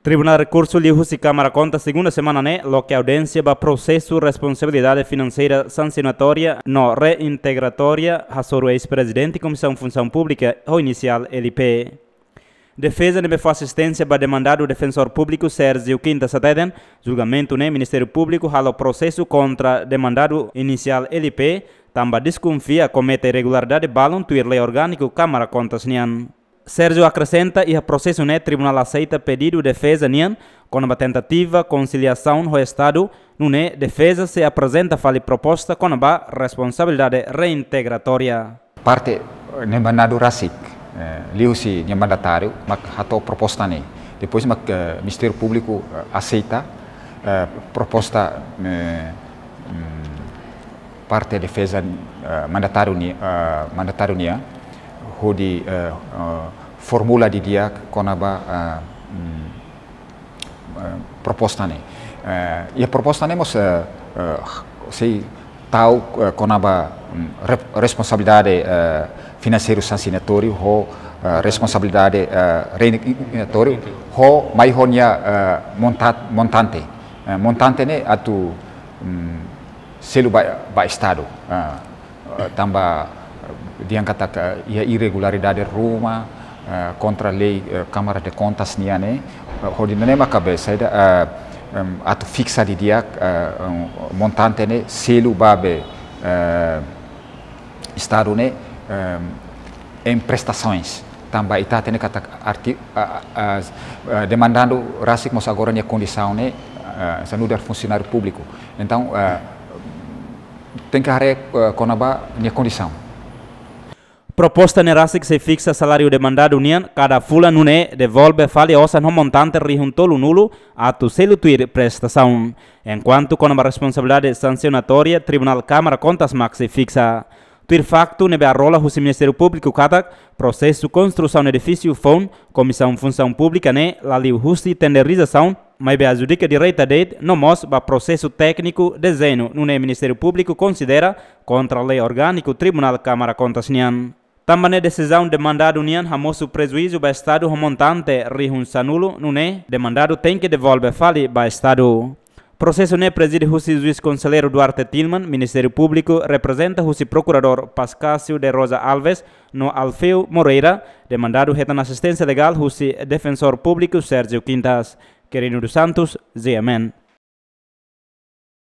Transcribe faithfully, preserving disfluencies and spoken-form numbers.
Tribunál Rekursu liuhusi Kámara Kontas segunda semana ne'e loke audiénsia ba prosesu responsabilidade finanseira sansionatória no reintegratória hasoru eis-prezidente Komisaun Funsaun Públika ho inisiál L P. Defeza ne'ebé fó asisténsia ba demandadu Defensór Públiku Sérgio Quintas hateten, julgamentu ne'e Ministériu Públiku halo prosesu kontra demandadu inisiál L P, tanba deskonfia komete irregularidade balun tuir lei orgániku Kámara Kontas nian. Sérgio akresenta, iha prosesu ne'e tribunál aseita pedidu defeza nian kona-ba tentativa konsiliasaun ho Estadu, nune'e defeza sei aprezenta fali proposta kona-ba responsabilidade reintegratória. Parte, eh, demandadu rasik, eh, liuhusi nia mandatáriu, mak hato'o proposta ne'e. Depois mak, eh, Ministériu Públiku, eh, aseita, eh, proposta, eh, mm, parte defeza, eh, mandatáriu ni-, eh, mandatáriu nian, hodi, eh, eh, formula didi'ak kona-ba, eh, mm, eh, proposta ne'e. Eh, iha proposta ne'e mós, eh, eh, sei tau, eh, kona-ba, mm, re-, responsabilidade, eh, finanseiru sansionatóriu ho, eh, responsabilidade, eh, reintegratóriu ho mai ho nia, eh, monta-, montante. Eh, montante ne'e atu, mm, selu ba, ba Estadu. Eh, eh, tanba, eh, dehan katak, eh, iha irregularidade ruma, eh, kontra lei, eh, Kámara de Kontas nian ne'e, eh, hodi nune'e maka be saida, eh, em, atu fiksa didi'ak, eh, em, montante ne'e selu ba be, eh, Estadu ne'e, em, em prestações. Tanba ita hatene katak arti-, a, a, a, a, demandadu rasik mós agora nia kondisaun ne'e, eh, hanesan nu'udar funsionáriu públiku. Entaun, eh, tenke haree, eh, kona-ba nia kondisaun. Proposta ne'e rasik sei fiksa saláriu demandadu nian kada fulan nune'e devolve fali osan ho montante rihun tolunulu atu selu tuir prestasaun. Enkuantu kona-ba responsabilidade sansionatória, Tribunál Kámara Kontas mak sei fiksa. Tuir faktu ne'ebé arola husi Ministériu Públiku katak, prosesu konstrusaun edifísiu foun Komisaun Funsaun Públika ne'e la liuhusi tenderizasaun, maibé adjudika direta de'it, no mós ba prosesu tékniku dezeñu, nune'e Ministériu Públiku konsidera kontra lei orgániku Tribunál Kámara Kontas nian. Tanba ne'e desizaun demandadu nian hamosu prejuízu ba Estadu ho montante rihun sanulu, nune'e demandadu tenke devolve fali ba Estadu. Prosesu ne'e prezide husi Juís Konselleiru Duarte Tilman, Ministériu Públiku reprezenta husi Prokuradór Pascasio de Rosa Alves, no Alfeu Moreira, demandadu hetan asisténsia legál husi Defensór Públiku Sérgio Quintas. Quirino dos Santos, G M N.